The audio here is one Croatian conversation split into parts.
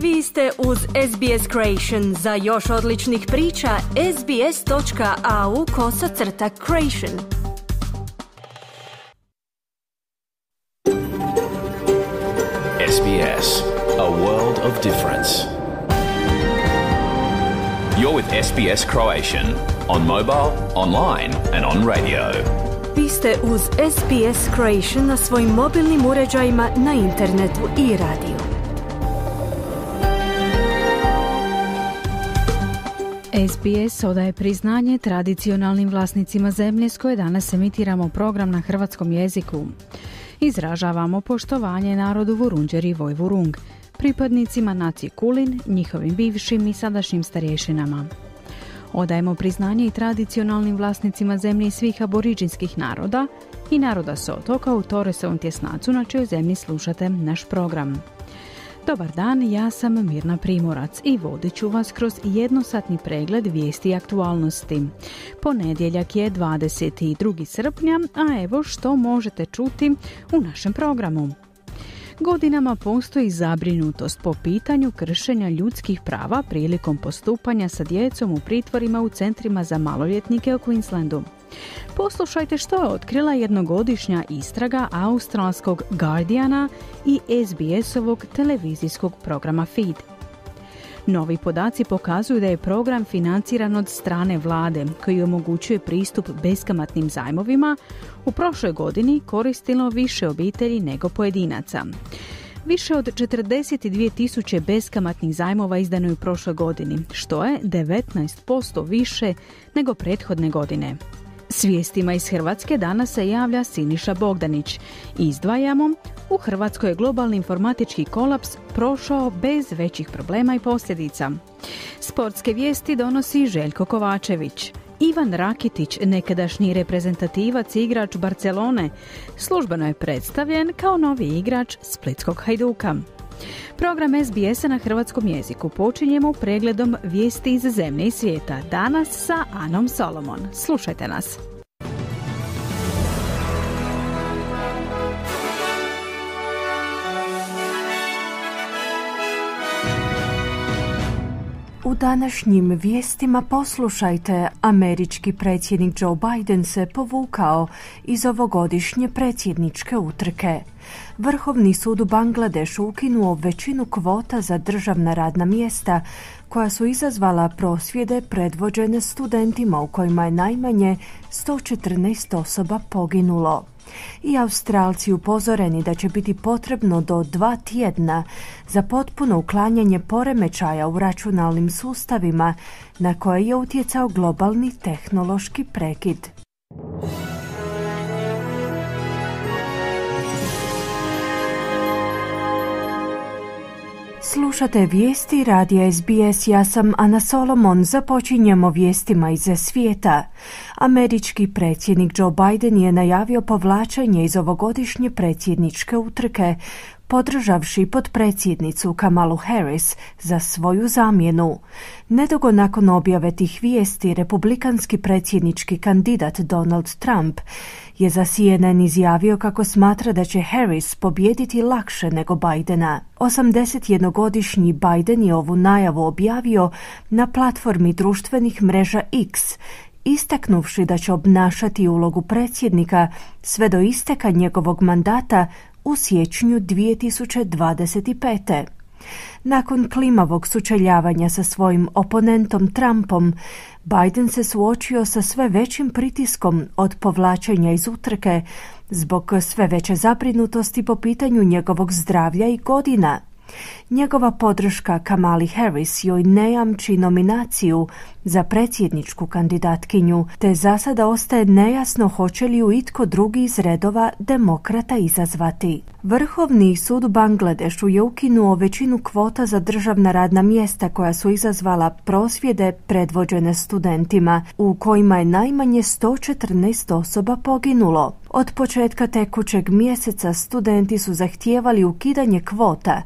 Vi ste uz SBS Creation. Za još odličnih priča, sbs.au/creation. SBS, a world of difference. You're with SBS Croatian on mobile, online and on radio. Vi ste uz SBS Creation na svojim mobilnim uređajima, na internetu i radiju. SBS odaje priznanje tradicionalnim vlasnicima zemlje s koje danas emitiramo program na hrvatskom jeziku. Izražavamo poštovanje narodu Vurundjeri i Vojvurung, pripadnicima nacije Kulin, njihovim bivšim i sadašnjim starješinama. Odajemo priznanje i tradicionalnim vlasnicima zemlje svih aboriđinskih naroda i naroda s otoka u Torresovom tjesnacu na čijoj zemlji slušate naš program. Dobar dan, ja sam Mirna Primorac i vodit ću vas kroz jednosatni pregled vijesti i aktualnosti. Ponedjeljak je 22. srpnja, a evo što možete čuti u našem programu. Godinama postoji zabrinutost po pitanju kršenja ljudskih prava prilikom postupanja sa djecom u pritvorima u centrima za maloljetnike u Queenslandu. Poslušajte što je otkrila jednogodišnja istraga australskog Guardiana i SBS-ovog televizijskog programa Feed. Novi podaci pokazuju da je program financiran od strane vlade, koji omogućuje pristup beskamatnim zajmovima, u prošloj godini koristilo više obitelji nego pojedinaca. Više od 42.000 beskamatnih zajmova izdano je u prošloj godini, što je 19% više nego prethodne godine. S vijestima iz Hrvatske danas se javlja Siniša Bogdanić. Izdvajamo, u Hrvatskoj je globalni informatički kolaps prošao bez većih problema i posljedica. Sportske vijesti donosi Željko Kovačević. Ivan Rakitić, nekadašnji reprezentativac i igrač Barcelone, službeno je predstavljen kao novi igrač Splitskog Hajduka. Program SBS-a na hrvatskom jeziku počinjemo pregledom vijesti iz zemlje i svijeta. Danas sa Anom Solomon. Slušajte nas. U današnjim vijestima poslušajte, američki predsjednik Joe Biden se povukao iz ovogodišnje predsjedničke utrke. Vrhovni sud u Bangladešu ukinuo većinu kvota za državna radna mjesta koja su izazvala prosvjede predvođene studentima u kojima je najmanje 114 osoba poginulo. I Australci upozoreni da će biti potrebno do 2 tjedna za potpuno uklanjanje poremećaja u računalnim sustavima na koje je utjecao globalni tehnološki prekid. Slušate vijesti radija SBS, ja sam Ana Solomon. Započinjemo vijestima iz svijeta. Američki predsjednik Joe Biden je najavio povlačenje iz ovogodišnje predsjedničke utrke, podržavši potpredsjednicu Kamalu Harris za svoju zamjenu. Nedugo nakon objave tih vijesti, republikanski predsjednički kandidat Donald Trump je za CNN izjavio kako smatra da će Harris pobijediti lakše nego Bidena. 81-godišnji Biden je ovu najavu objavio na platformi društvenih mreža X, istaknuvši da će obnašati ulogu predsjednika sve do isteka njegovog mandata u siječnju 2025. Nakon klimavog sučeljavanja sa svojim oponentom Trumpom, Biden se suočio sa sve većim pritiskom od povlačenja iz utrke zbog sve veće zabrinutosti po pitanju njegovog zdravlja i godina. Njegova podrška Kamali Harris joj ne jamči nominaciju za predsjedničku kandidatkinju, te za sada ostaje nejasno hoće li ju itko drugi iz redova demokrata izazvati. Vrhovni sud u Bangladešu je ukinuo većinu kvota za državna radna mjesta koja su izazvala prosvjede predvođene studentima, u kojima je najmanje 114 osoba poginulo. Od početka tekućeg mjeseca studenti su zahtijevali ukidanje kvota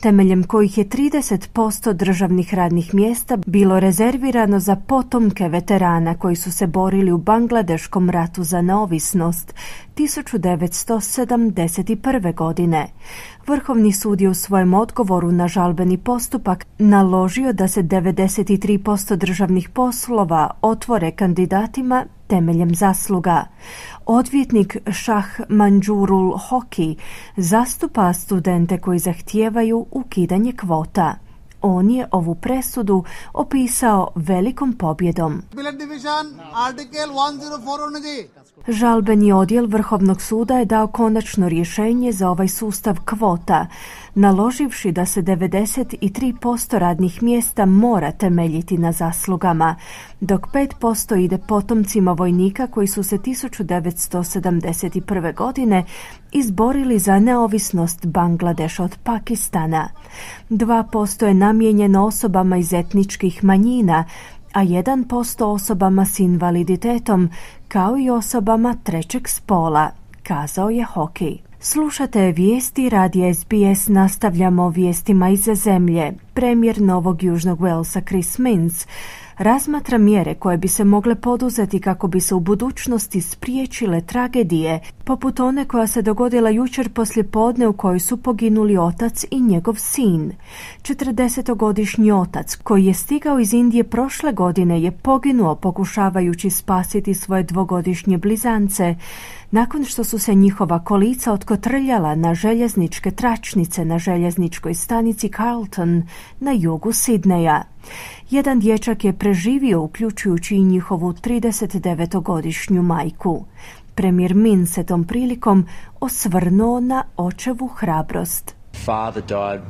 temeljem kojih je 30% državnih radnih mjesta bilo rezervirano za potomke veterana koji su se borili u Bangladeškom ratu za neovisnost 1971. godine. Vrhovni sud je u svojem odgovoru na žalbeni postupak naložio da se 93% državnih poslova otvore kandidatima temeljem zasluga. Odvjetnik Shah Manjurul Hoki zastupa studente koji zahtijevaju ukidanje kvota. On je ovu presudu opisao velikom pobjedom. Žalbeni odjel Vrhovnog suda je dao konačno rješenje za ovaj sustav kvota, naloživši da se 93% radnih mjesta mora temeljiti na zaslugama, dok 5% ide potomcima vojnika koji su se 1971. godine izborili za neovisnost Bangladeša od Pakistana. 2% je namijenjeno osobama iz etničkih manjina, a 1% osobama s invaliditetom, kao i osobama trećeg spola, kazao je Hoki. Slušate vijesti radija SBS, nastavljamo vijestima iz zemlje. Premijer Novog Južnog Walesa Chris Minns razmatra mjere koje bi se mogle poduzeti kako bi se u budućnosti spriječile tragedije, poput one koja se dogodila jučer poslijepodne u kojoj su poginuli otac i njegov sin. 40-godišnji otac koji je stigao iz Indije prošle godine je poginuo pokušavajući spasiti svoje 2-godišnje blizance nakon što su se njihova kolica otkotrljala na željezničke tračnice na željezničkoj stanici Carlton na jugu Sidneja. Jedan dječak je preživio, uključujući i njihovu 39-godišnju majku. Premijer Minns se tom prilikom osvrnuo na očevu hrabrost. Father died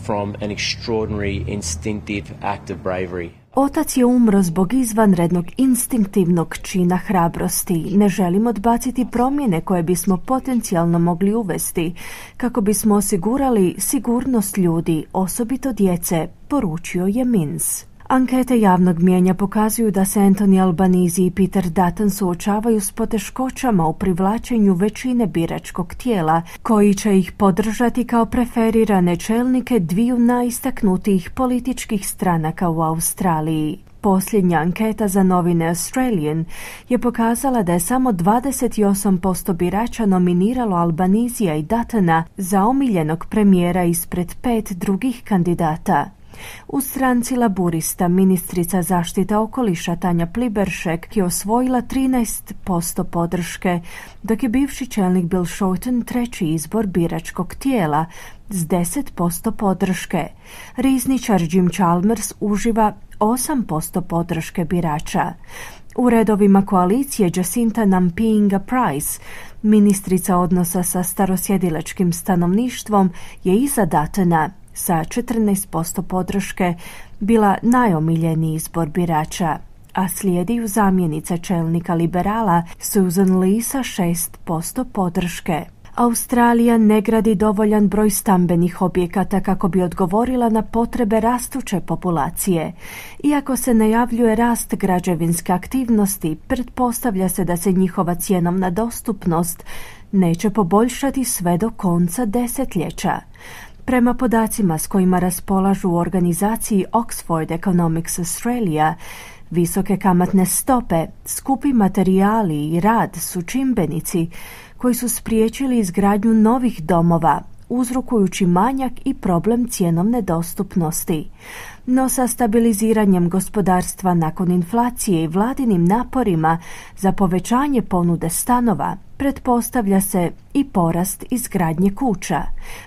from an extraordinary instinctive act of bravery. Otac je umro zbog izvanrednog instinktivnog čina hrabrosti. Ne želim odbaciti promjene koje bismo potencijalno mogli uvesti kako bismo osigurali sigurnost ljudi, osobito djece, poručio je Minns. Ankete javnog mnijenja pokazuju da se Anthony Albanese i Peter Dutton suočavaju s poteškoćama u privlačenju većine biračkog tijela, koji će ih podržati kao preferirane čelnike dviju najistaknutijih političkih stranaka u Australiji. Posljednja anketa za novine Australian je pokazala da je samo 28% birača nominiralo Albanesea i Duttona za omiljenog premijera ispred 5 drugih kandidata. U stranci Laburista ministrica zaštite okoliša Tanja Pliberšek je osvojila 13% podrške, dok je bivši čelnik Bill Shorten treći izbor biračkog tijela s 10% podrške. Rizničar Jim Chalmers uživa 8% podrške birača. U redovima koalicije Jacinta Nampijinga Price, ministrica odnosa sa starosjedilačkim stanovništvom, je iza Duttona sa 14% podrške bila najomiljeniji izbor birača, a slijedi ju zamjenica čelnika liberala Susan Lee sa 6% podrške. Australija ne gradi dovoljan broj stambenih objekata kako bi odgovorila na potrebe rastuće populacije. Iako se najavljuje rast građevinske aktivnosti, pretpostavlja se da se njihova cjenovna dostupnost neće poboljšati sve do konca desetljeća. Prema podacima s kojima raspolažu u organizaciji Oxford Economics Australia, visoke kamatne stope, skupi materijali i rad su čimbenici koji su spriječili izgradnju novih domova, uzrokujući manjak i problem cjenovne dostupnosti. No sa stabiliziranjem gospodarstva nakon inflacije i vladinim naporima za povećanje ponude stanova, pretpostavlja se i porast izgradnje kuća,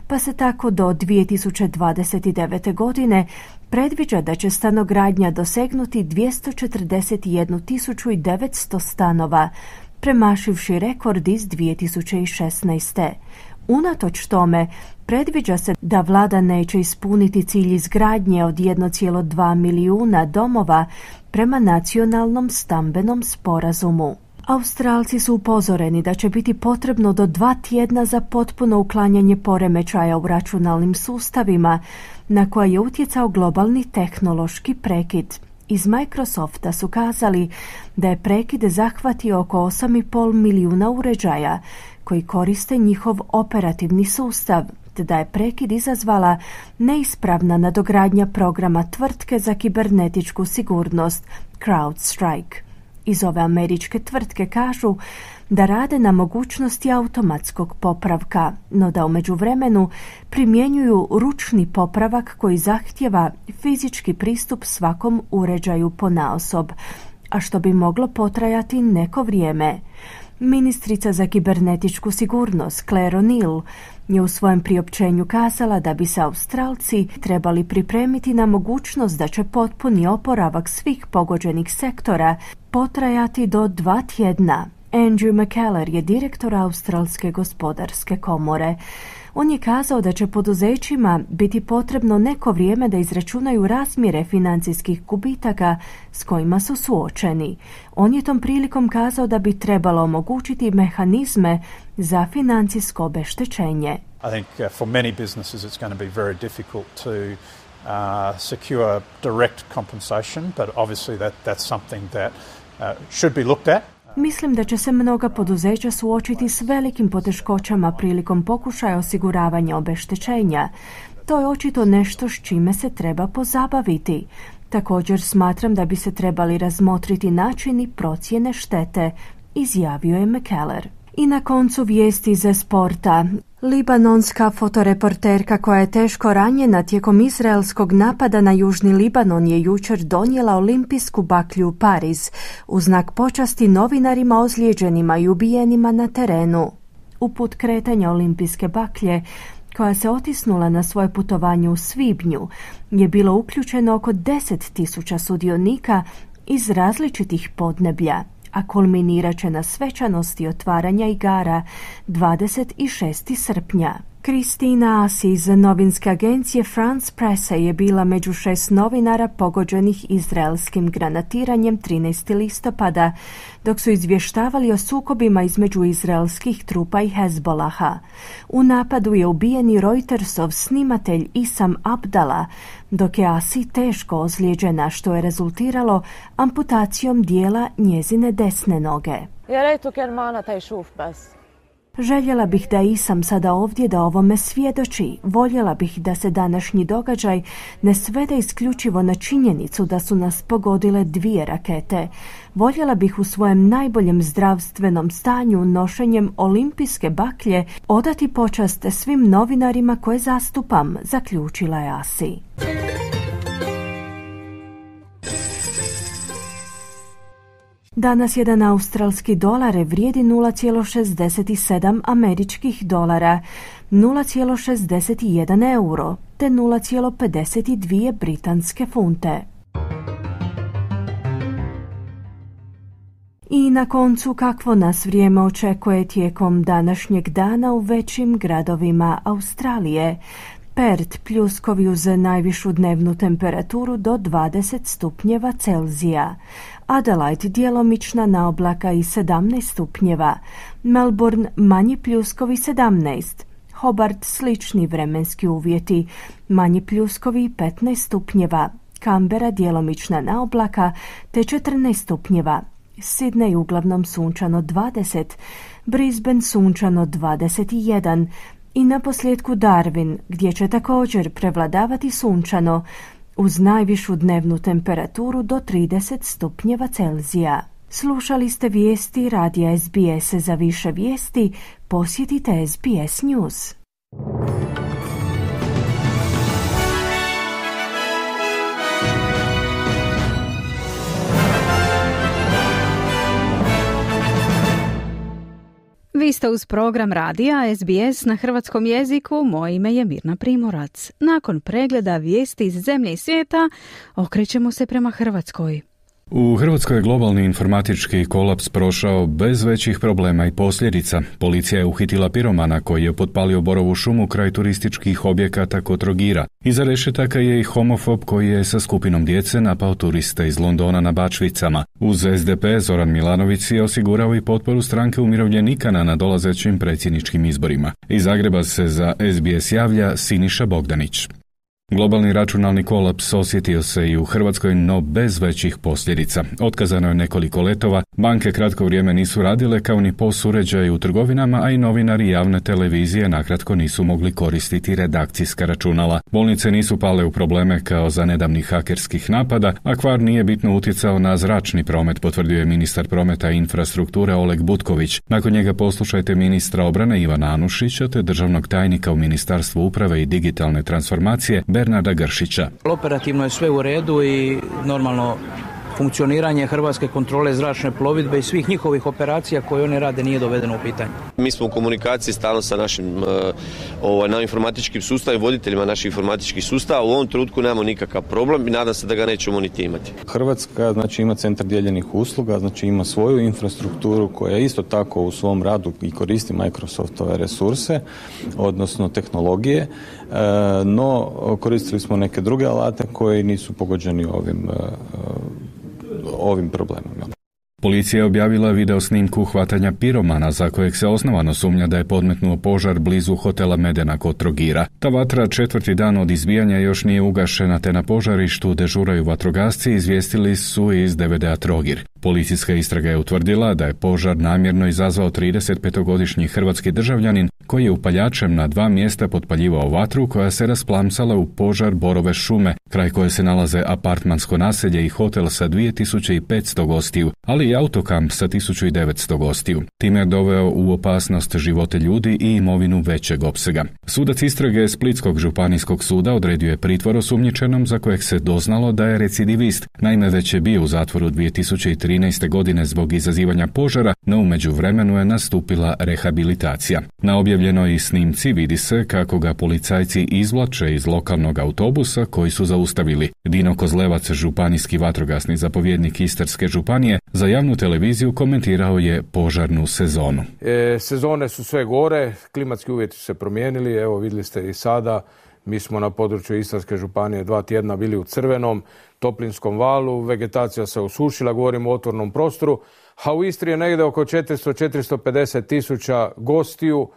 pa se tako do 2029. godine predviđa da će stanogradnja dosegnuti 241.900 stanova, premašivši rekord iz 2016. Unatoč tome, predviđa se da vlada neće ispuniti cilj izgradnje od 1,2 milijuna domova prema nacionalnom stambenom sporazumu. Australci su upozoreni da će biti potrebno do 2 tjedna za potpuno uklanjanje poremećaja u računalnim sustavima na koje je utjecao globalni tehnološki prekid. Iz Microsofta su kazali da je prekid zahvatio oko 8,5 milijuna uređaja koji koriste njihov operativni sustav, te da je prekid izazvala neispravna nadogradnja programa tvrtke za kibernetičku sigurnost CrowdStrike. Iz ove američke tvrtke kažu da rade na mogućnosti automatskog popravka, no da u međuvremenu primjenjuju ručni popravak koji zahtijeva fizički pristup svakom uređaju ponaosob, a što bi moglo potrajati neko vrijeme. Ministrica za kibernetičku sigurnost Claire O'Neill je u svojem priopćenju kazala da bi se Australci trebali pripremiti na mogućnost da će potpuni oporavak svih pogođenih sektora potrajati do 2 tjedna. Andrew McKellar je direktor Australske gospodarske komore. On je kazao da će poduzećima biti potrebno neko vrijeme da izračunaju razmjere financijskih gubitaka s kojima su suočeni. On je tom prilikom kazao da bi trebalo omogućiti mehanizme za financijsko obeštećenje. I think for many businesses it's going to be very difficult to secure direct compensation, but obviously that's something that should be looked at. Mislim da će se mnoga poduzeća suočiti s velikim poteškoćama prilikom pokušaja osiguravanja obeštećenja. To je očito nešto s čime se treba pozabaviti. Također smatram da bi se trebali razmotriti načini procjene štete, izjavio je McKellar. I na koncu vijesti iz sporta. Libanonska fotoreporterka koja je teško ranjena tijekom izraelskog napada na Južni Libanon je jučer donijela olimpijsku baklju u Pariz u znak počasti novinarima ozlijeđenima i ubijenima na terenu. U put kretanja olimpijske baklje, koja se otisnula na svoje putovanje u svibnju, je bilo uključeno oko 10.000 sudionika iz različitih podneblja, a kulminirat će na svečanosti otvaranja igara 26. srpnja. Kristina Asi iz novinske agencije France Presse je bila među 6 novinara pogođenih izraelskim granatiranjem 13. listopada, dok su izvještavali o sukobima između izraelskih trupa i Hezbolaha. U napadu je ubijeni Reutersov snimatelj Isam Abdala, dok je Asi teško ozlijeđena, što je rezultiralo amputacijom dijela njezine desne noge. Željela bih da Isam sada ovdje da ovome svjedoči. Voljela bih da se današnji događaj ne svede isključivo na činjenicu da su nas pogodile 2 rakete. Voljela bih u svojem najboljem zdravstvenom stanju nošenjem olimpijske baklje odati počast svim novinarima koje zastupam, zaključila je Asi. Danas jedan australski dolar vrijedi 0,67 američkih dolara, 0,61 euro te 0,52 britanske funte. I na koncu kakvo nas vrijeme očekuje tijekom današnjeg dana u većim gradovima Australije. Perth pljuskovi uz najvišu dnevnu temperaturu do 20 stupnjeva Celzija. Adelaide djelomična naoblaka i 17 stupnjeva. Melbourne manji pljuskovi 17. Hobart slični vremenski uvjeti. Manji pljuskovi 15 stupnjeva. Canberra djelomična naoblaka te 14 stupnjeva. Sydney uglavnom sunčano 20. Brisbane sunčano 21. I naposljetku Darwin, gdje će također prevladavati sunčano, uz najvišu dnevnu temperaturu do 30 stupnjeva Celzija. Slušali ste vijesti radija SBS. Za više vijesti posjetite SBS News. Vi ste uz program radija SBS na hrvatskom jeziku. Moje ime je Mirna Primorac. Nakon pregleda vijesti iz zemlje i svijeta, okrećemo se prema Hrvatskoj. U Hrvatskoj je globalni informatički kolaps prošao bez većih problema i posljedica. Policija je uhitila piromana koji je potpalio borovu šumu kraj turističkih objekata kod Trogira. Iza rešetaka je i homofob koji je sa skupinom djece napao turiste iz Londona na Bačvicama. Uz SDP Zoran Milanović je osigurao i potporu stranke umirovljenika na nadolazećim predsjedničkim izborima. Iz Zagreba se za SBS javlja Siniša Bogdanić. Globalni računalni kolaps osjetio se i u Hrvatskoj, no bez većih posljedica. Otkazano je nekoliko letova, banke kratko vrijeme nisu radile, kao ni POS uređaji u trgovinama, a i novinari javne televizije nakratko nisu mogli koristiti redakcijska računala. Bolnice nisu pale u probleme kao za nedavnih hakerskih napada, a kvar nije bitno utjecao na zračni promet, potvrdio je ministar prometa i infrastrukture Oleg Butković. Nakon njega poslušajte ministra obrane Ivana Anušića te državnog tajnika u Ministarstvu uprave i digitalne transformacije Bernarda Gršića. Operativno je sve u redu i normalno funkcioniranje Hrvatske kontrole zračne plovidbe i svih njihovih operacija koje oni rade nije dovedeno u pitanje. Mi smo u komunikaciji stalno sa našim informatičkim sustavima, voditeljima naših informatičkih sustava. U ovom trenutku nemamo nikakav problem i nadam se da ga nećemo niti imati. Hrvatska ima centar dijeljenih usluga, ima svoju infrastrukturu koja isto tako u svom radu i koristi Microsoftove resurse, odnosno tehnologije, no koristili smo neke druge alate koji nisu pogođeni ovim problemima. Policija je objavila video snimku hvatanja piromana za kojeg se osnovano sumnja da je podmetnuo požar blizu hotela Medena kod Trogira. Ta vatra 4. dan od izbijanja još nije ugašena, te na požarištu dežuraju vatrogasci, izvijestili su iz DVD-a Trogir. Policijska istraga je utvrdila da je požar namjerno izazvao 35-godišnji hrvatski državljanin koji je upaljačem na 2 mjesta potpaljivao vatru koja se rasplamsala u požar Borove šume, kraj koje se nalaze apartmansko naselje i hotel sa 2500 gostiju, ali i autokamp sa 1900 gostiju. Time je doveo u opasnost živote ljudi i imovinu većeg opsega. Sudac istrage Splitskog županijskog suda odredio je pritvor osumnjičenom za kojeg se doznalo da je recidivist. Naime, već je bio u zatvoru 2013. godine zbog izazivanja požara, no u međuvremenu je nastupila rehabilitacija. Na objavljenoj snimci vidi se kako ga policajci izvlače iz lokalnog autobusa koji su zaustavili. Dino Kozlevac, županijski vatrogasni zapovjednik Istarske županije, za javnu televiziju komentirao je požarnu sezonu. Sezone su sve gore, klimatski uvjeti su se promijenili, evo vidjeli ste i sada, mi smo na području Istarske županije 2 tjedna bili u crvenom toplinskom valu, vegetacija se osušila, govorimo o otvornom prostoru, a u Istri je negdje oko 400-450 tisuća gostiju,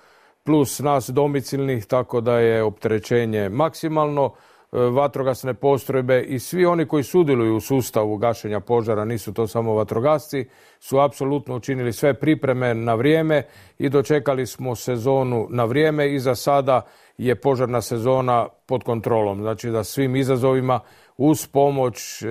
plus nas domicilnih, tako da je opterećenje maksimalno. Vatrogasne postrojbe i svi oni koji sudjeluju u sustavu gašenja požara, nisu to samo vatrogasci, su apsolutno učinili sve pripreme na vrijeme i dočekali smo sezonu na vrijeme i za sada je požarna sezona pod kontrolom. Znači da svim izazovima uz pomoć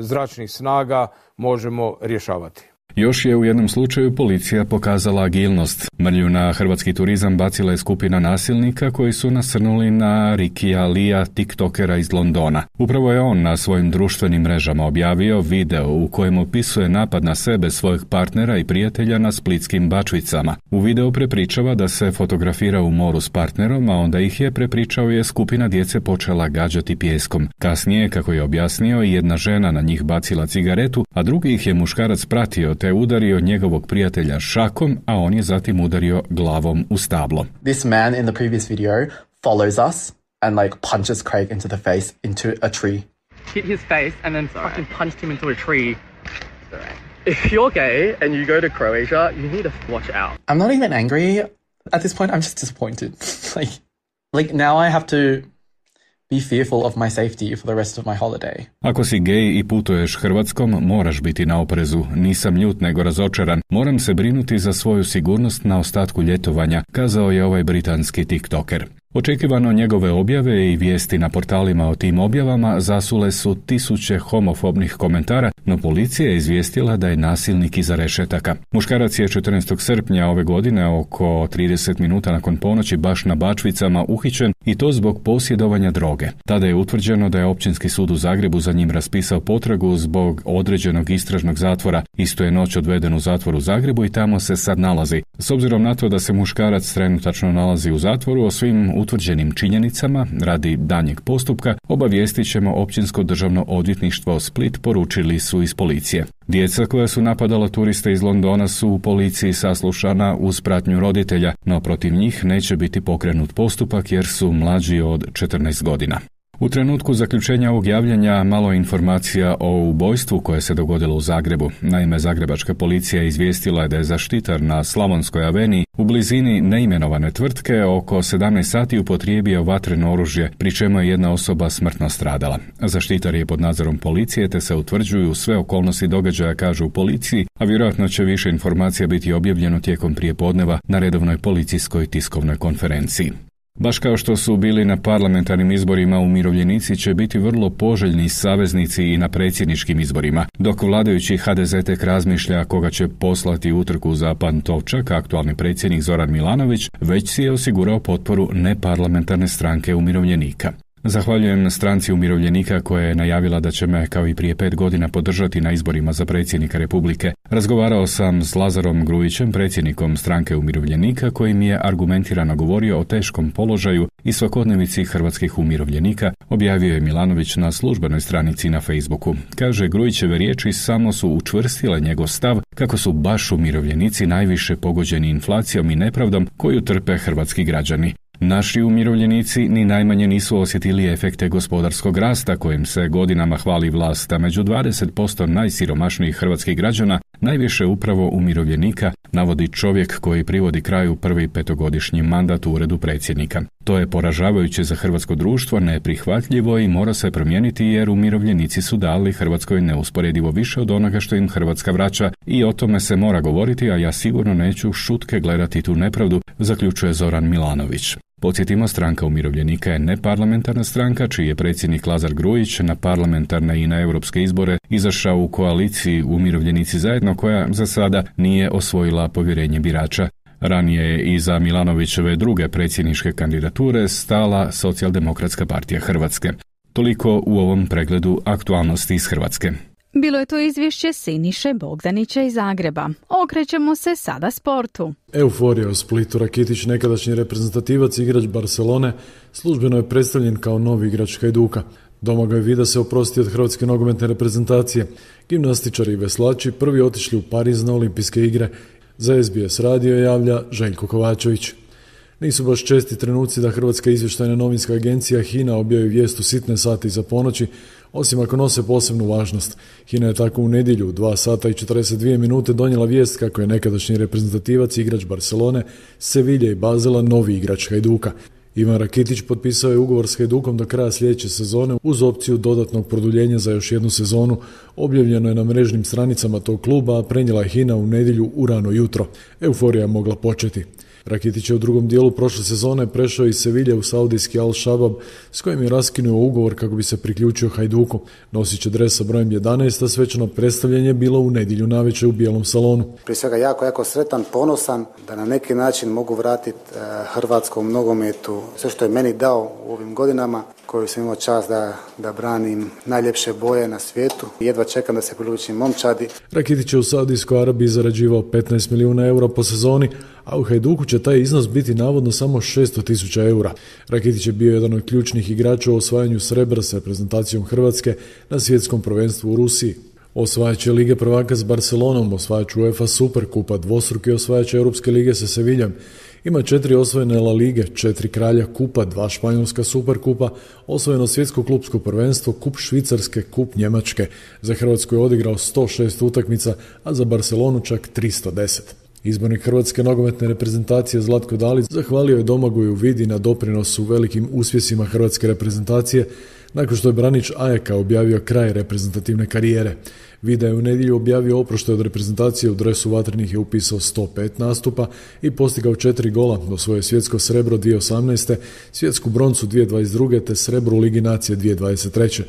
zračnih snaga možemo rješavati. Još je u jednom slučaju policija pokazala agilnost. Mrlju na hrvatski turizam bacila je skupina nasilnika koji su nasrnuli na Rikija Lija, tiktokera iz Londona. Upravo je on na svojim društvenim mrežama objavio video u kojem opisuje napad na sebe, svojeg partnera i prijatelja na splitskim Bačvicama. U videu prepričava da se fotografira u moru s partnerom, a onda ih je, prepričao je, skupina djece počela gađati pijeskom. Kasnije, kako je objasnio, jedna žena na njih bacila cigaretu, a drugi ih je muškarac pratio te udario njegovog prijatelja šakom, a on je zatim udario glavom u stablo. This man in the previous video follows us and punches Craig into the face into a tree. Hit his face and then fucking punched him into a tree. If you're gay and you go to Croatia, you need to watch out. I'm not even angry at this point. I'm just disappointed. Now I have to be fearful of my safety for the rest of my holiday. Ako si gej i putuješ Hrvatskom, moraš biti na oprezu. Nisam ljut nego razočaran. Moram se brinuti za svoju sigurnost na ostatku ljetovanja, kazao je ovaj britanski tiktoker. Očekivano njegove objave i vijesti na portalima o tim objavama zasule su tisuće homofobnih komentara, no policija je izvijestila da je nasilnik iza rešetaka. Muškarac je 14. srpnja ove godine oko 30 minuta nakon ponoći baš na Bačvicama uhićen i to zbog posjedovanja droge. Tada je utvrđeno da je Općinski sud u Zagrebu za njim raspisao potragu zbog određenog istražnog zatvora. Isto je noć odveden u zatvor u Zagrebu i tamo se sad nalazi. S obzirom na to da se muškarac trenutačno nalazi u zatvoru, o svim utvrđenim činjenicama radi daljnjeg postupka obavijestit ćemo Općinsko državno odvjetništvo Split, poručili su iz policije. Djeca koja su napadala turiste iz Londona su u policiji saslušana uz pratnju roditelja, no protiv njih neće biti pokrenut postupak jer su mlađi od 14 godina. U trenutku zaključenja ovog javljanja malo informacija o ubojstvu koje se dogodilo u Zagrebu. Naime, zagrebačka policija izvijestila je da je zaštitar na Slavonskoj aveniji u blizini neimenovane tvrtke oko 17 sati upotrijebio vatreno oružje, pri čemu je jedna osoba smrtno stradala. Zaštitar je pod nadzorom policije te se utvrđuju sve okolnosti događaja, kažu u policiji, a vjerojatno će više informacija biti objavljeno tijekom prijepodneva na redovnoj policijskoj tiskovnoj konferenciji. Baš kao što su bili na parlamentarnim izborima, umirovljenici će biti vrlo poželjni saveznici i na predsjedničkim izborima, dok vladajući HDZ tek razmišlja koga će poslati utrku za Pantovčak, aktualni predsjednik Zoran Milanović već si je osigurao potporu neparlamentarne stranke umirovljenika. Zahvaljujem stranci umirovljenika koja je najavila da će me, kao i prije 5 godina, podržati na izborima za predsjednika Republike. Razgovarao sam s Lazarom Grujićem, predsjednikom stranke umirovljenika, koji mi je argumentirano govorio o teškom položaju i svakodnevici hrvatskih umirovljenika, objavio je Milanović na službenoj stranici na Facebooku. Kaže, Grujićeve riječi samo su učvrstile njegov stav kako su baš umirovljenici najviše pogođeni inflacijom i nepravdom koju trpe hrvatski građani. Naši umirovljenici ni najmanje nisu osjetili efekte gospodarskog rasta kojim se godinama hvali vlast, a među 20% najsiromašnijih hrvatskih građana najviše upravo umirovljenika, navodi čovjek koji privodi kraju prvi 5-godišnji mandat u uredu predsjednika. To je poražavajuće za hrvatsko društvo, neprihvatljivo i mora se promijeniti jer umirovljenici su dali Hrvatskoj neusporedivo više od onoga što im Hrvatska vraća i o tome se mora govoriti, a ja sigurno neću šutke gledati tu nepravdu, zaključuje Zoran Milanović. Podsjetimo, stranka umirovljenika je neparlamentarna stranka čiji je predsjednik Lazar Grujić na parlamentarne i na europske izbore izašao u koaliciji Umirovljenici zajedno koja za sada nije osvojila povjerenje birača. Ranije je i za Milanovićeve druge predsjedničke kandidature stala Socijaldemokratska partija Hrvatske. Toliko u ovom pregledu aktualnosti iz Hrvatske. Bilo je to izvješće Siniše Bogdanića iz Zagreba. Okrećemo se sada sportu. Euforija u Splitu. Rakitić, nekadašnji reprezentativac i igrač Barcelone, službeno je predstavljen kao novi igrač Hajduka. Domagoj Vida se oprosti od hrvatske nogometne reprezentacije. Gimnastičari i veslači prvi otišli u Pariz na olimpijske igre. Za SBS radio javlja Željko Kovačević. Nisu baš česti trenuci da Hrvatska izvještajna novinska agencija HINA objavi vijest u sitne sate iza ponoći, osim ako nose posebnu važnost. HINA je tako u nedjelju u 2 sata i 42 minute donijela vijest kako je nekadašnji reprezentativac i igrač Barcelone, Sevilje i Bazela novi igrač Hajduka. Ivan Rakitić potpisao je ugovor s Hajdukom do kraja sljedeće sezone uz opciju dodatnog produljenja za još jednu sezonu. Objavljeno je na mrežnim stranicama tog kluba, a prenijela je HINA u nedjelju u rano jutro. Euforija je mogla početi. Rakitić je u drugom dijelu prošle sezone prešao iz Sevilje u saudijski Al-Shabab, s kojim je raskinuo ugovor kako bi se priključio Hajduku. Nosit će dres sa brojem 11, a svečano predstavljanje bilo u nedjelju navečer u Bijelom salonu. Prije svega jako sretan, ponosan da na neki način mogu vratiti hrvatskom nogometu sve što je meni dao u ovim godinama, koju sam imao čast da branim najljepše boje na svijetu. Jedva čekam da se priključim momčadi. Rakitić je u Saudijskoj Arabiji zarađivao 15 milijuna eura po sezoni, a u Hajduku će taj iznos biti navodno samo 600.000 eura. Rakitić je bio jedan od ključnih igrača u osvajanju srebra s reprezentacijom Hrvatske na svjetskom prvenstvu u Rusiji. Osvajač je Lige prvaka s Barcelonom, osvajač UEFA Superkupa, dvostruki osvajač Europske lige sa Seviljem. Ima 4 osvojene La Lige, 4 kralja kupa, 2 španjolska Superkupa, osvojeno svjetsko klupsko prvenstvo, kup Švicarske, kup Njemačke. Za Hrvatsku je odigrao 106 utakmica, a za Barcelonu čak 310. Izbornik hrvatske nogometne reprezentacije Zlatko Dalić zahvalio je Domagoju Vidi na doprinosu velikim uspjesima hrvatske reprezentacije nakon što je branič Ajaka objavio kraj reprezentativne karijere. Vida je u nedjelju objavio oproštaj od reprezentacije, u dresu vatrenih je upisao 105 nastupa i postigao 4 gola, osvojio svjetsko srebro 2018. svjetsku broncu 2022. te srebro u Ligi nacije 2023.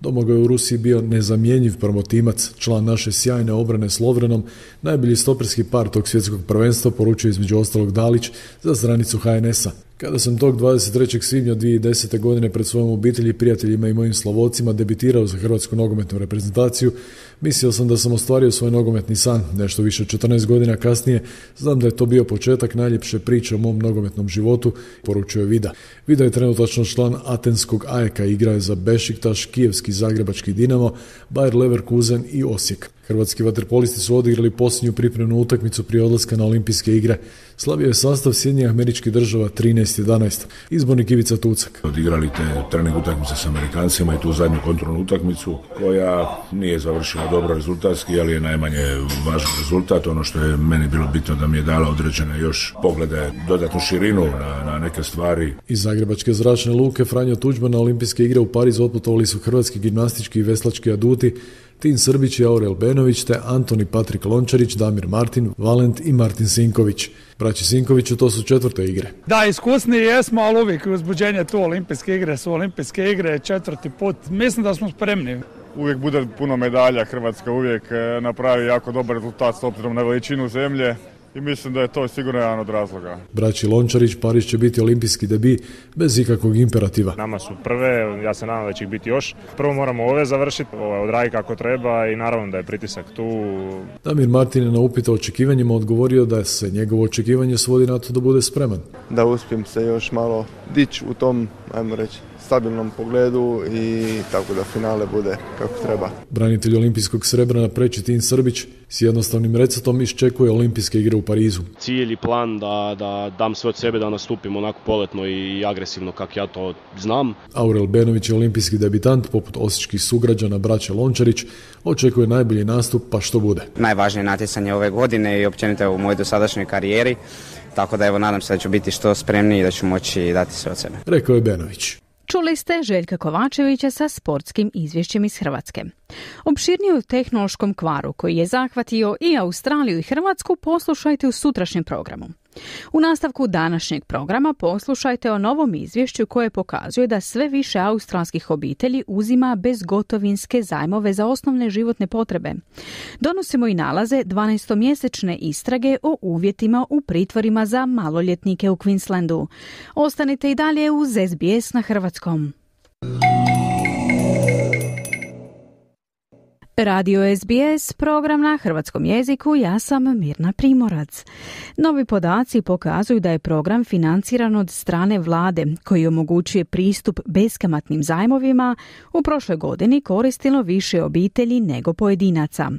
Domagoj je u Rusiji bio nezamjenjiv promotimac, član naše sjajne obrane s Lovrenom, najbolji stoperski par tog svjetskog prvenstva, poručio između ostalog Dalić za stranicu HNS-a. Kada sam tog 23. svibnja 2010. godine pred svojom obitelji, prijateljima i mojim Slavocima debitirao za hrvatsku nogometnu reprezentaciju, mislio sam da sam ostvario svoj nogometni san. Nešto više od 14 godina kasnije znam da je to bio početak najljepše priče o mom nogometnom životu, poručio je Vida. Vida je trenutačno član atenskog Ajeka, igra je za Bešiktaš, kijevski Zagrebački Dinamo, Bayer Leverkusen i Osijek. Hrvatski vaterpolisti su odigrali posljednju pripremnu utakmicu prije odlaska na olimpijske igre. Slavio je sastav Sjedinjenih Američkih Država 13-11. Izbornik Ivica Tucak. Odigrali te trening utakmice s Amerikancima i tu zadnju kontrolnu utakmicu koja nije završila dobro rezultatski, ali je najmanje važan rezultat. Ono što je meni bilo bitno da mi je dala određene još poglede, dodatnu širinu na neke stvari. Iz Zagrebačke zračne luke Franjo Tuđman na olimpijske igre u Parizu otputovali su hrvatski gimnastički i veslački aduti Tin Srbić i Aurel Benović te Antoni Patrik Lončarić, Damir Martin, Valent i Martin Sinković. Braći Sinkoviću to su 4. igre. Da, iskusni jesmo, ali uvijek uzbuđenje tu olimpijske igre su olimpijske igre, 4. put. Mislim da smo spremni. Uvijek bude puno medalja, Hrvatska uvijek napravi jako dobar rezultat s obzirom na veličinu zemlje. I mislim da je to sigurno jedan od razloga. Braći Lončarić, Pariz će biti olimpijski debi bez ikakvog imperativa. Nama su prve, ja se nadam da će ih biti još. Prvo moramo ove završiti, odraditi kako treba i naravno da je pritisak tu. Damir Martin je na upit o očekivanjima odgovorio da se njegovo očekivanje svodi na to da bude spreman. Da uspijem se još malo dići u tom, ajmo reći, stabilnom pogledu i tako da finale bude kako treba. Branitelj olimpijskog srebra na preći Tin Srbić s jednostavnim receptom iščekuje olimpijske igre u Parizu. Cilj i plan da dam sve od sebe da nastupim onako poletno i agresivno kako ja to znam. Aurel Benović je olimpijski debitant, poput osječkih sugrađana braće Lončarić, očekuje najbolji nastup pa što bude. Najvažnije natjecanje ove godine i općenito u mojoj dosadašnjoj karijeri, tako da evo nadam se da ću biti što spremniji i da ću moći dati sve od sebe. Rekao je Benović. Čuli ste Željka Kovačevića sa sportskim izvješćem iz Hrvatske. Opširnije o tehnološkom kvaru koji je zahvatio i Australiju i Hrvatsku poslušajte u sutrašnjem programu. U nastavku današnjeg programa poslušajte o novom izvješću koje pokazuje da sve više australskih obitelji uzima bezgotovinske zajmove za osnovne životne potrebe. Donosimo i nalaze 12-mjesečne istrage o uvjetima u pritvorima za maloljetnike u Queenslandu. Ostanite i dalje uz SBS na hrvatskom. Radio SBS, program na hrvatskom jeziku, ja sam Mirna Primorac. Novi podaci pokazuju da je program financiran od strane vlade koji omogućuje pristup beskamatnim zajmovima u prošloj godini koristilo više obitelji nego pojedinaca.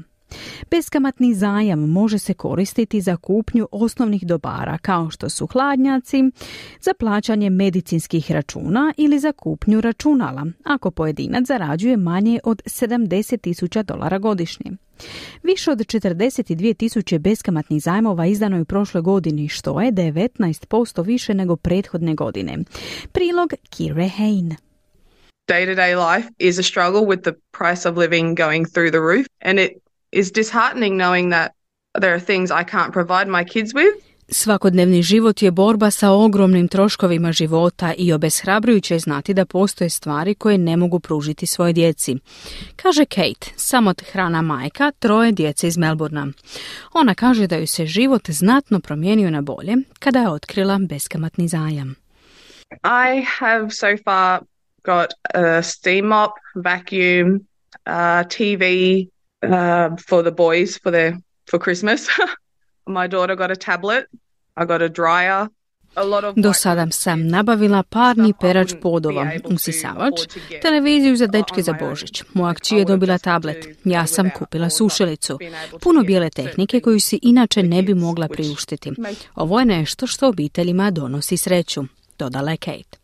Beskamatni zajam može se koristiti za kupnju osnovnih dobara kao što su hladnjaci, za plaćanje medicinskih računa ili za kupnju računala, ako pojedinac zarađuje manje od $70,000 godišnje. Više od 42,000 beskamatnih zajmova izdano je u prošloj godini, što je 19% više nego prethodne godine. Prilog Kire Hain. Day-to-day life is a struggle with the price of living going through the roof, and it is disheartening knowing that there are things I can't provide my kids with. Svakodnevni život je borba sa ogromnim troškovima života i obeshrabrujuće je znati da postoje stvari koje ne mogu pružiti svojoj djeci, kaže Kate, samohrana majka 3 djece iz Melbournea. Ona kaže da ju se život znatno promijenio na bolje kada je otkrila beskamatni zajam. I have so far got a steam mop, vacuum, TV, for the boys for Christmas. My daughter got a tablet. I got a dryer. Do sada sam nabavila parni perač podova, usisavač, televiziju za dečke za Božić. Moja kći je dobila tablet. Ja sam kupila sušilicu. Puno bijele tehnike koju si inače ne bi mogla priuštiti. Ovo je nešto što obiteljima donosi sreću, dodala je Kate.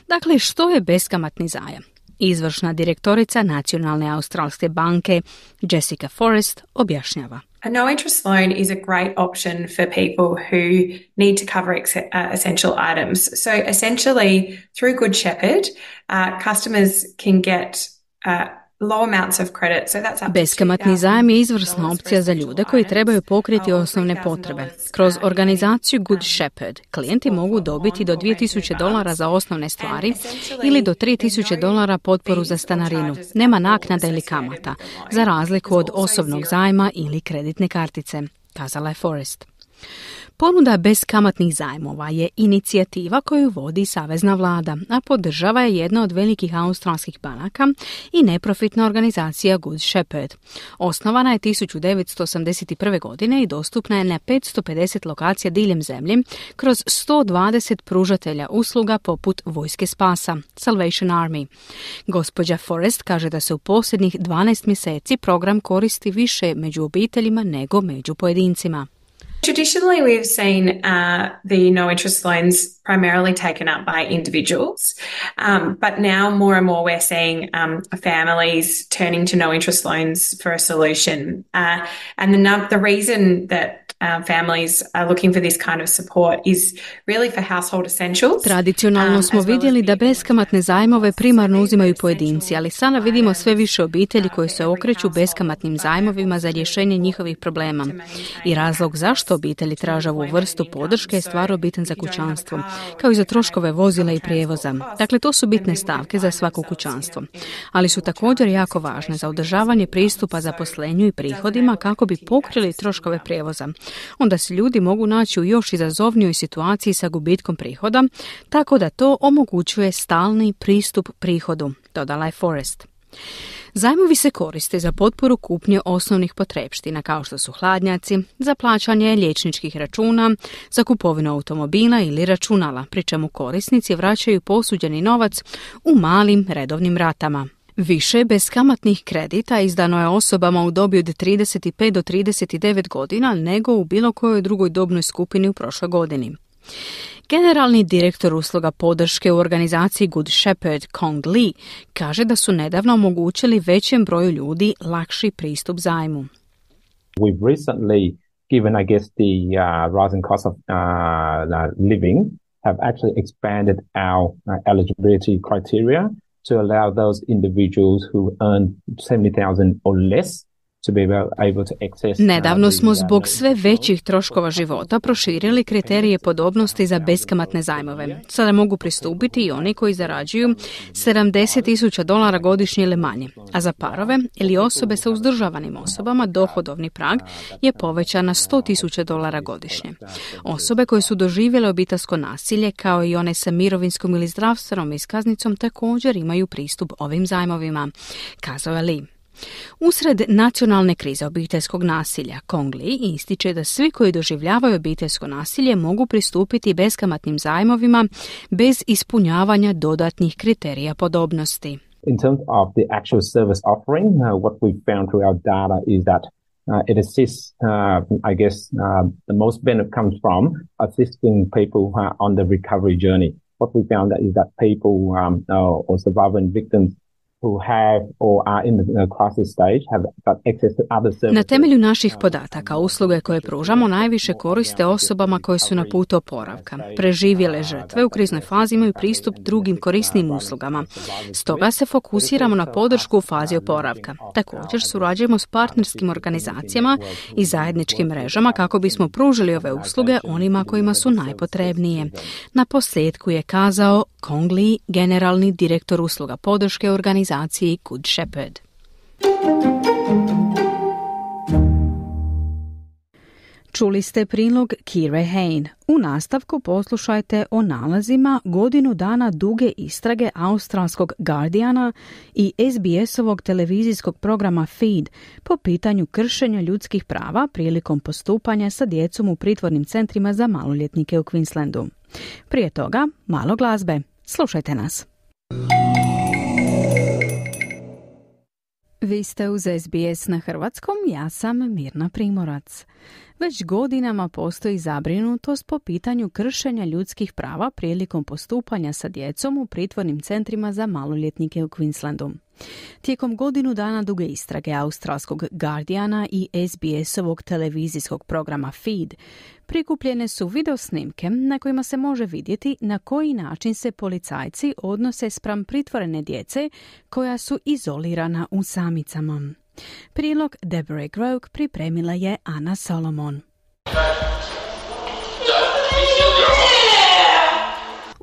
Dakle, što je beskamatni zajam? Izvršna direktorica Nacionalne australske banke Jessica Forrest objašnjava. A no interest loan is a great option for people who need to cover essential items. So essentially, through Good Shepherd, customers can get low amounts of credit. So that's Beskamatni zajam je izvrsna opcija za ljude koji trebaju pokriti osnovne potrebe. Kroz organizaciju Good Shepherd klijenti mogu dobiti do $2,000 za osnovne stvari ili do $3,000 potporu za stanarinu. Nema naknada ili kamata, za razliku od osobnog zajma ili kreditne kartice, kazala je Forrest. Ponuda beskamatnih zajmova je inicijativa koju vodi savezna vlada, a podržava je jedna od velikih australskih banaka i neprofitna organizacija Good Shepherd. Osnovana je 1981. godine i dostupna je na 550 lokacija diljem zemlje kroz 120 pružatelja usluga poput Vojske spasa, Salvation Army. Gospođa Forrest kaže da se u posljednjih 12 mjeseci program koristi više među obiteljima nego među pojedincima. Traditionally, we've seen the no-interest loans primarily taken up by individuals, but now more and more we're seeing families turning to no-interest loans for a solution. And the reason that families are looking for this kind of support is really for household essentials. Tradicionalno smo vidjeli da beskamatne zajmove primarno uzimaju pojedinci, ali sada vidimo sve više obitelji koje se okreću beskamatnim zajmovima za rješenje njihovih problema. I razlog zašto obitelji traže ovu vrstu podrške je stvarno bitan za kućanstvo, kao i za troškove vozila i prijevoza. Dakle, to su bitne stavke za svako kućanstvo, ali su također jako važne za održavanje pristupa zaposlenju i prihodima kako bi pokrili troškove prijevoza. Onda se ljudi mogu naći u još izazovnijoj situaciji sa gubitkom prihoda, tako da to omogućuje stalni pristup prihodu, dodala je Forrest. Zajmovi se koriste za potporu kupnje osnovnih potrepština kao što su hladnjaci, za plaćanje liječničkih računa, za kupovinu automobila ili računala, pri čemu korisnici vraćaju posuđeni novac u malim redovnim ratama. Više beskamatnih kredita izdano je osobama u dobi od 35 do 39 godina nego u bilo kojoj drugoj dobnoj skupini u prošloj godini. Generalni direktor usluga podrške u organizaciji Good Shepherd, Kong Lee, kaže da su nedavno omogućili većem broju ljudi lakši pristup zajmu. We've recently, given I guess the rising cost of living, have actually expanded our eligibility criteria to allow those individuals who earn $70,000 or less to be able to access. Nedavno smo zbog sve većih troškova života proširili kriterije podobnosti za beskamatne zajmove. Sada mogu pristupiti i oni koji zarađuju $70,000 godišnje ili manje, a za parove ili osobe sa uzdržavanim osobama dohodovni prag je povećan na $100,000 godišnje. Osobe koje su doživjele obiteljsko nasilje kao i one sa mirovinskom ili zdravstvenom iskaznicom također imaju pristup ovim zajmovima, kazao je Lee. Usred nacionalne krize obiteljskog nasilja, Kong Lee ističe da svi koji doživljavaju obiteljsko nasilje mogu pristupiti beskamatnim zajmovima bez ispunjavanja dodatnih kriterija podobnosti. In terms of the actual service offering, what we found through our data is that it assists, the most benefit comes from assisting people on the recovery journey. What we found is that people or surviving victims who have or are in the crisis stage have got access to other services. Na temelju naših podataka, usluge koje pružamo najviše koriste osobama koje su na putu oporavka. Preživjele žrtve u kriznoj fazi imaju pristup drugim korisnim uslugama. Stoga se fokusiramo na podršku u fazi oporavka. Također surađujemo s partnerskim organizacijama i zajedničkim mrežama kako bismo pružili ove usluge onima kojima su najpotrebnije. Na posljedku je kazao Kong Lee, generalni direktor usluga podrške organizaciji Good Shepherd. Čuli ste prilog Kire Hain. U nastavku poslušajte o nalazima godinu dana duge istrage australskog Guardiana i SBS-ovog televizijskog programa Feed po pitanju kršenja ljudskih prava prilikom postupanja sa djecom u pritvornim centrima za maloljetnike u Queenslandu. Prije toga, malo glazbe. Slušajte nas. Vi ste uz SBS na hrvatskom, ja sam Mirna Primorac. Već godinama postoji zabrinutost po pitanju kršenja ljudskih prava prilikom postupanja sa djecom u pritvornim centrima za maloljetnike u Queenslandu. Tijekom godinu dana duge istrage australskog Guardiana i SBS-ovog televizijskog programa Feed prikupljene su videosnimke na kojima se može vidjeti na koji način se policajci odnose spram pritvorene djece koja su izolirana u samicama. Prilog Deborah Groke pripremila je Ana Solomon.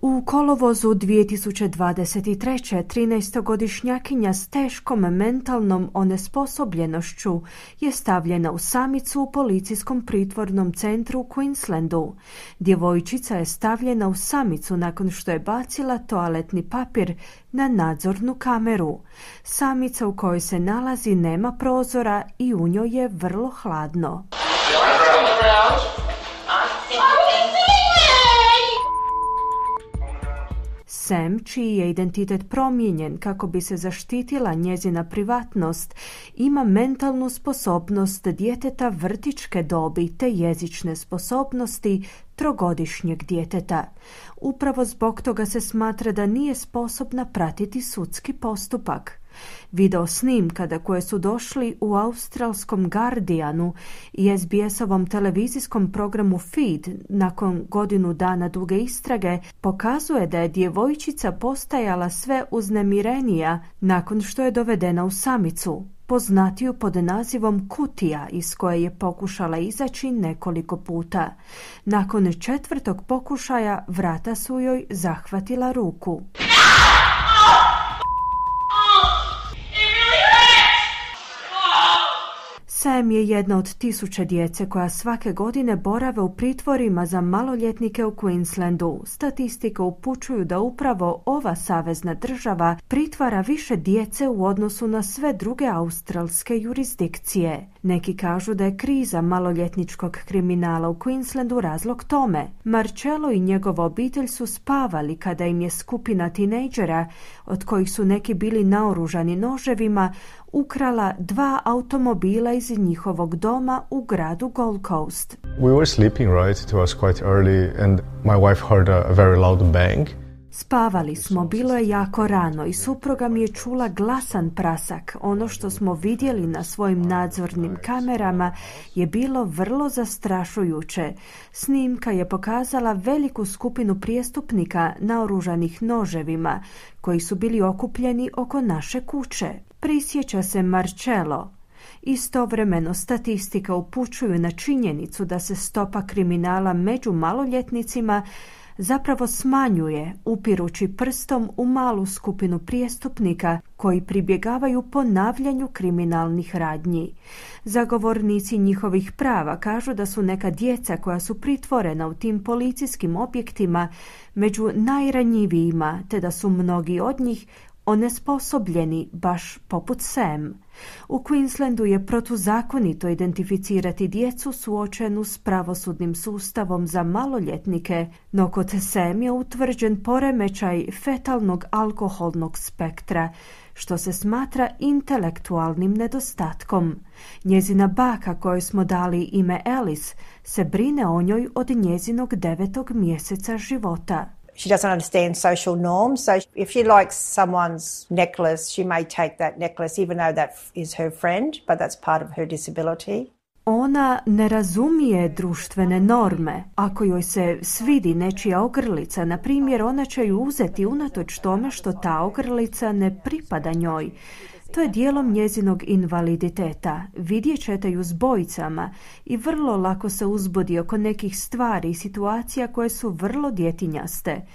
U kolovozu 2023. 13-godišnjakinja s teškom mentalnom onesposobljenošću je stavljena u samicu u policijskom pritvornom centru u Queenslandu. Djevojčica je stavljena u samicu nakon što je bacila toaletni papir na nadzornu kameru. Samica u kojoj se nalazi nema prozora i u njoj je vrlo hladno. Sam, čiji je identitet promijenjen kako bi se zaštitila njezina privatnost, ima mentalnu sposobnost djeteta vrtićke dobi te jezične sposobnosti trogodišnjeg djeteta. Upravo zbog toga se smatra da nije sposobna pratiti sudski postupak. Video snimka do koje su došli u australskom Guardianu i SBS-ovom televizijskom programu Feed nakon godinu dana duge istrage pokazuje da je djevojčica postajala sve uznemirenija nakon što je dovedena u samicu, poznatiju pod nazivom kutija iz koje je pokušala izaći nekoliko puta. Nakon 4. pokušaja vrata su joj zahvatila ruku. Sam je jedna od 1000 djece koja svake godine borave u pritvorima za maloljetnike u Queenslandu. Statistike upućuju da upravo ova savezna država pritvara više djece u odnosu na sve druge australske jurisdikcije. Neki kažu da je kriza maloljetničkog kriminala u Queenslandu razlog tome. Marcello i njegova obitelj su spavali kada im je skupina tinejdžera, od kojih su neki bili naoružani noževima, ukrala 2 automobila iz njihovog doma u gradu Gold Coast. We were sleeping, right? It was quite early and my wife heard a very loud bang. Spavali smo, bilo je jako rano i supruga mi je čula glasan prasak. Ono što smo vidjeli na svojim nadzornim kamerama je bilo vrlo zastrašujuće. Snimka je pokazala veliku skupinu prijestupnika naoružanih noževima koji su bili okupljeni oko naše kuće. Prisjeća se Marcello. Istovremeno statistika upućuju na činjenicu da se stopa kriminala među maloljetnicima zapravo smanjuje, upirući prstom u malu skupinu prijestupnika koji pribjegavaju ponavljanju kriminalnih radnji. Zagovornici njihovih prava kažu da su neka djeca koja su pritvorena u tim policijskim objektima među najranjivijima, te da su mnogi od njih onesposobljeni baš poput Sam. U Queenslandu je protuzakonito identificirati djecu suočenu s pravosudnim sustavom za maloljetnike, no kod Sam je utvrđen poremećaj fetalnog alkoholnog spektra, što se smatra intelektualnim nedostatkom. Njezina baka, kojoj smo dali ime Alice, se brine o njoj od njezinog 9. mjeseca života. She doesn't understand social norms, so if she likes someone's necklace, she may take that necklace even though that is her friend, but that's part of her disability. Ona ne razumije društvene norme. Ako joj se svidi nečija ogrlica, na primjer, ona će ju uzeti unatoč tome što ta ogrlica ne pripada njoj. To je dijelom njezinog invaliditeta. Vidjet ćete ju s bojicama i vrlo lako se uzbudi oko nekih stvari i situacija koje su vrlo djetinjaste.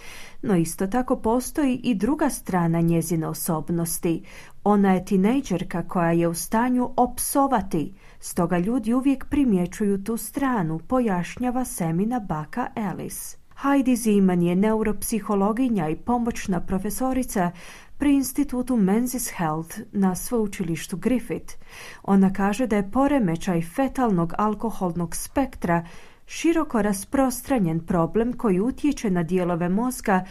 No isto tako postoji i druga strana njezine osobnosti. Ona je tinejdžerka koja je u stanju opsovati, stoga ljudi uvijek primjećuju tu stranu, pojašnjava Samina baka Alice. Heidi Zeman je neuropsihologinja i pomoćna profesorica pri institutu Menzies Health na sveučilištu Griffith. Ona kaže da je poremećaj fetalnog alkoholnog spektra široko rasprostranjen problem koji utječe na dijelove mozga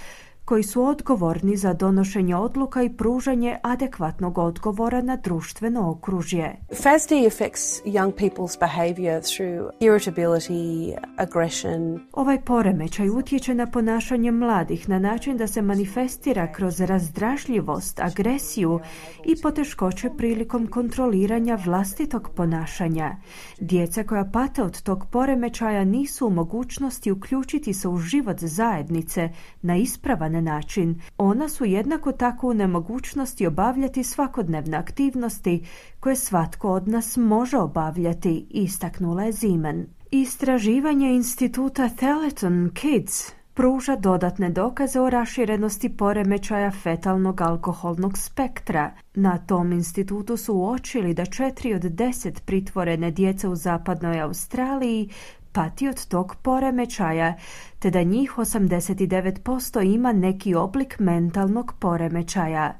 koji su odgovorni za donošenje odluka i pružanje adekvatnog odgovora na društveno okružje. FASD affects young people's behavior through irritability, aggression. Ovaj poremećaj utječe na ponašanje mladih na način da se manifestira kroz razdražljivost, agresiju i poteškoće prilikom kontroliranja vlastitog ponašanja. Djeca koja pate od tog poremećaja nisu u mogućnosti uključiti se u život zajednice na ispravan način. Ona su jednako tako u nemogućnosti obavljati svakodnevne aktivnosti koje svatko od nas može obavljati, istaknula je Zeman. Istraživanje instituta Telethon Kids pruža dodatne dokaze o raširenosti poremećaja fetalnog alkoholnog spektra. Na tom institutu su uočili da 4 od 10 pritvorene djece u zapadnoj Australiji pati od tog poremećaja, te da njih 89% ima neki oblik mentalnog poremećaja.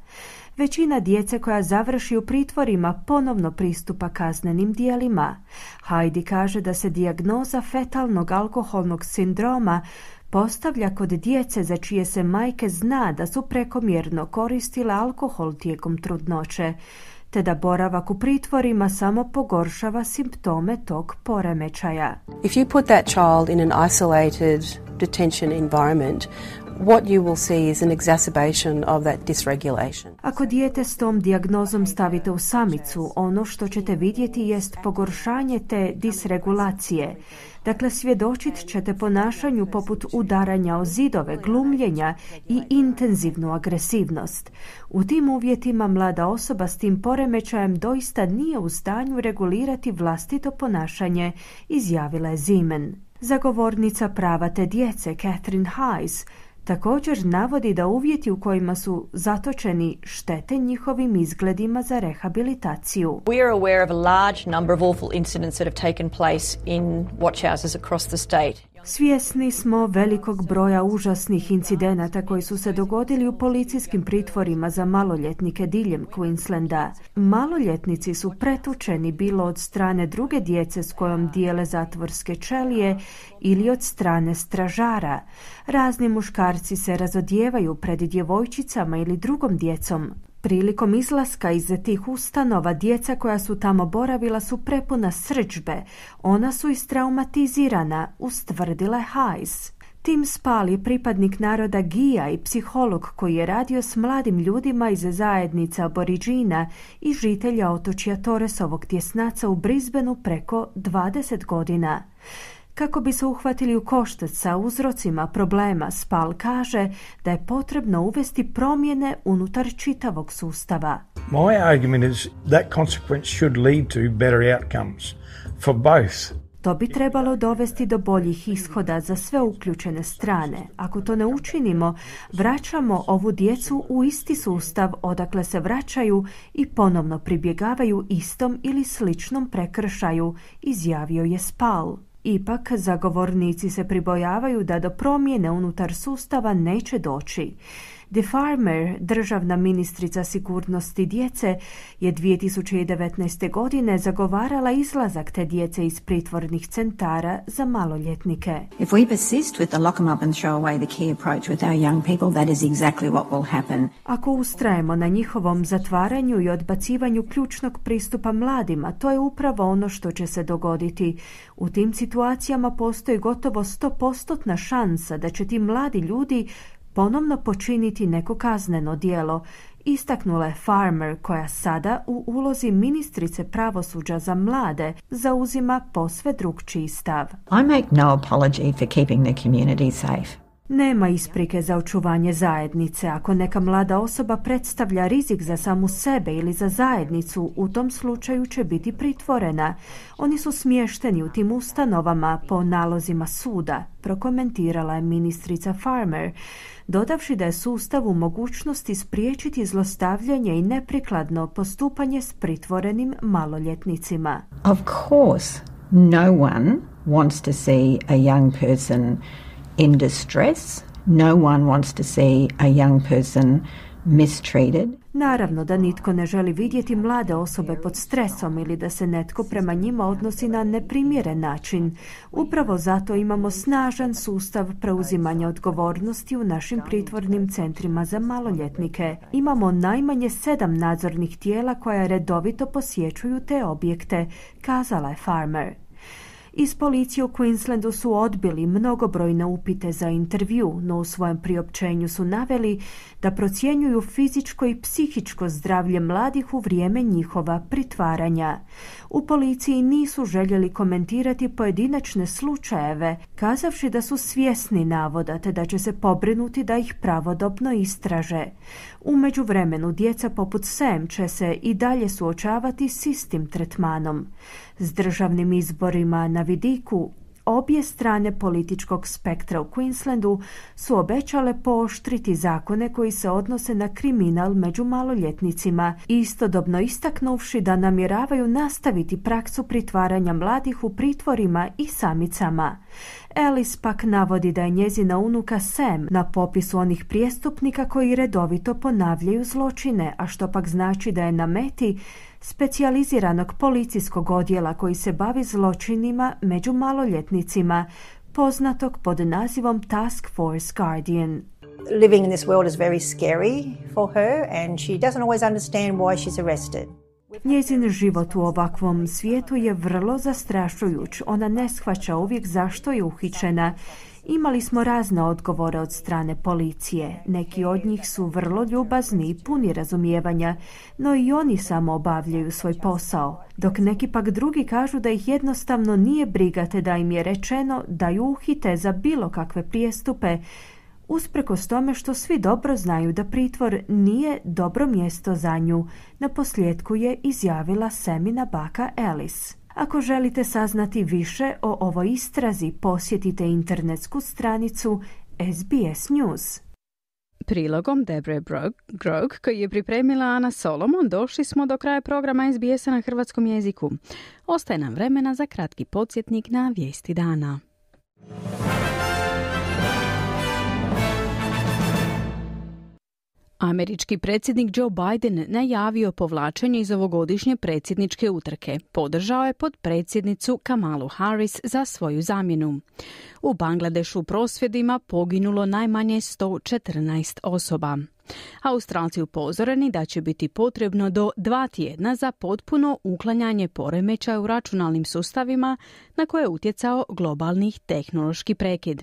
Većina djece koja završi u pritvorima ponovno pristupa kaznenim dijelima. Heidi kaže da se dijagnoza fetalnog alkoholnog sindroma postavlja kod djece za čije se majke zna da su prekomjerno koristile alkohol tijekom trudnoće, te da boravak u pritvorima samo pogoršava simptome tog poremećaja. If you put that child in an isolated detention environment, what you will see is an exacerbation of that dysregulation. Ako dijete s tom dijagnozom stavite u samicu, ono što ćete vidjeti jest pogoršanje te disregulacije. Dakle, svjedočit ćete ponašanju poput udaranja o zidove, glumljenja i intenzivnu agresivnost. U tim uvjetima mlada osoba s tim poremećajem doista nije u stanju regulirati vlastito ponašanje, izjavila je Zeman. Zagovornica prava te djece, Catherine Hayes, također navodi da uvjeti u kojima su zatočeni štete njihovim izgledima za rehabilitaciju. We are aware of a large number of awful incidents that have taken place in watch houses across the state. Svjesni smo velikog broja užasnih incidenata koji su se dogodili u policijskim pritvorima za maloljetnike diljem Queenslanda. Maloljetnici su pretučeni bilo od strane druge djece s kojom dijele zatvorske ćelije ili od strane stražara. Razni muškarci se razodijevaju pred djevojčicama ili drugom djecom. Prilikom izlaska iz tih ustanova djeca koja su tamo boravila su prepuna srdžbe. Ona su istraumatizirana, ustvrdila je Hayes. Tim Spall je pripadnik naroda Gija i psiholog koji je radio s mladim ljudima iz zajednica Aboriđina i žitelja otočja Torresovog tjesnaca u Brisbaneu preko 20 godina. Kako bi se uhvatili u koštac sa uzrocima problema, Spall kaže da je potrebno uvesti promjene unutar čitavog sustava. My argument is that consequence should lead to better outcomes for both. To bi trebalo dovesti do boljih ishoda za sve uključene strane. Ako to ne učinimo, vraćamo ovu djecu u isti sustav odakle se vraćaju i ponovno pribjegavaju istom ili sličnom prekršaju, izjavio je Spall. Ipak, zagovornici se pribojavaju da do promjene unutar sustava neće doći. The Farmer, državna ministrica sigurnosti djece, je 2019. godine zagovarala izlazak te djece iz pritvornih centara za maloljetnike. If we persist with the lock them up and throw away the key approach with our young people, that is exactly what will happen. Ako ustrajemo na njihovom zatvaranju i odbacivanju ključnog pristupa mladima, to je upravo ono što će se dogoditi. U tim situacijama postoji gotovo 100% šansa da će ti mladi ljudi ponovno počiniti neko kazneno djelo, istaknula je Farmer, koja sada u ulozi ministrice pravosuđa za mlade zauzima posve drukčiji stav. I make no apology for keeping the community safe. Nema isprike za očuvanje zajednice. Ako neka mlada osoba predstavlja rizik za samu sebe ili za zajednicu, u tom slučaju će biti pritvorena. Oni su smješteni u tim ustanovama po nalozima suda, prokomentirala je ministrica Farmer, dodavši da je sustav u mogućnosti spriječiti zlostavljanje i neprikladno postupanje s pritvorenim maloljetnicima. Of course, no one wants to see a young person in distress. No one wants to see a young person mistreated. Naravno da nitko ne želi vidjeti mlade osobe pod stresom ili da se netko prema njima odnosi na neprimjeren način. Upravo zato imamo snažan sustav preuzimanja odgovornosti u našim pritvornim centrima za maloljetnike. Imamo najmanje 7 nadzornih tijela koja redovito posjećuju te objekte, kazala je Farmer. Iz policije u Queenslandu su odbili mnogobrojne upite za intervju, no u svojem priopćenju su naveli da procjenjuju fizičko i psihičko zdravlje mladih u vrijeme njihova pritvaranja. U policiji nisu željeli komentirati pojedinačne slučajeve, kazavši da su svjesni navoda te da će se pobrinuti da ih pravodobno istraže. U međuvremenu djeca poput Sam će se i dalje suočavati s istim tretmanom. S državnim izborima na vidiku, obje strane političkog spektra u Queenslandu su obećale pooštriti zakone koji se odnose na kriminal među maloljetnicima, istodobno istaknuvši da namjeravaju nastaviti praksu pritvaranja mladih u pritvorima i samicama. Ellis pak navodi da je njezina unuka Sam na popisu onih prijestupnika koji redovito ponavljaju zločine, a što pak znači da je na meti specijaliziranog policijskog odjela koji se bavi zločinima među maloljetnicima, poznatog pod nazivom Task Force Guardian. Living in this world is very scary for her and she doesn't always understand why she's arrested. Njezin život u ovakvom svijetu je vrlo zastrašujuć. Ona ne shvaća uvijek zašto je uhićena. Imali smo razne odgovore od strane policije. Neki od njih su vrlo ljubazni i puni razumijevanja, no i oni samo obavljaju svoj posao, dok neki pak drugi kažu da ih jednostavno nije briga te da im je rečeno da ju uhite za bilo kakve prijestupe, usprkos tome što svi dobro znaju da pritvor nije dobro mjesto za nju, naposljetku je izjavila Samina baka Ellis. Ako želite saznati više o ovoj istrazi, posjetite internetsku stranicu SBS News. Prilogom Debre Grog, koji je pripremila Ana Solomon, došli smo do kraja programa SBS-a na hrvatskom jeziku. Ostaje nam vremena za kratki podsjetnik na vijesti dana. Američki predsjednik Joe Biden najavio povlačenje iz ovogodišnje predsjedničke utrke. Podržao je potpredsjednicu Kamalu Harris za svoju zamjenu. U Bangladešu prosvjedima poginulo najmanje 114 osoba. Australci upozoreni da će biti potrebno do 2 tjedna za potpuno uklanjanje poremećaja u računalnim sustavima na koje je utjecao globalni tehnološki prekid.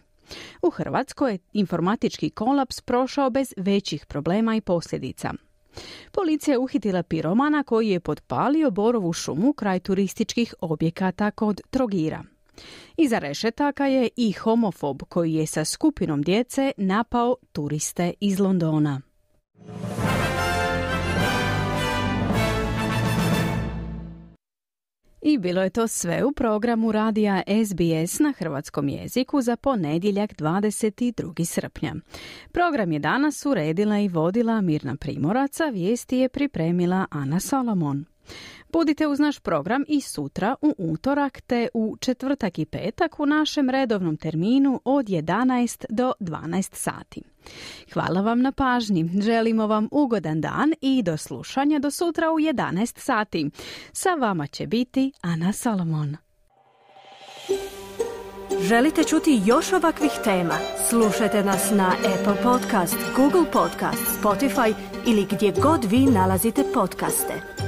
U Hrvatskoj je informatički kolaps prošao bez većih problema i posljedica. Policija je uhitila piromana koji je potpalio borovu šumu kraj turističkih objekata kod Trogira. Iza rešetaka je i homofob koji je sa skupinom djece napao turiste iz Londona. I bilo je to sve u programu radija SBS na hrvatskom jeziku za ponedjeljak 22. srpnja. Program je danas uredila i vodila Mirna Primorac, a vijesti je pripremila Ana Solomon. Budite uz naš program i sutra u utorak te u četvrtak i petak u našem redovnom terminu od 11 do 12 sati. Hvala vam na pažnji, želimo vam ugodan dan i do slušanja do sutra u 11 sati. Sa vama će biti Ana Solomon. Želite čuti još ovakvih tema? Slušajte nas na Apple Podcast, Google Podcast, Spotify ili gdje god vi nalazite podcaste.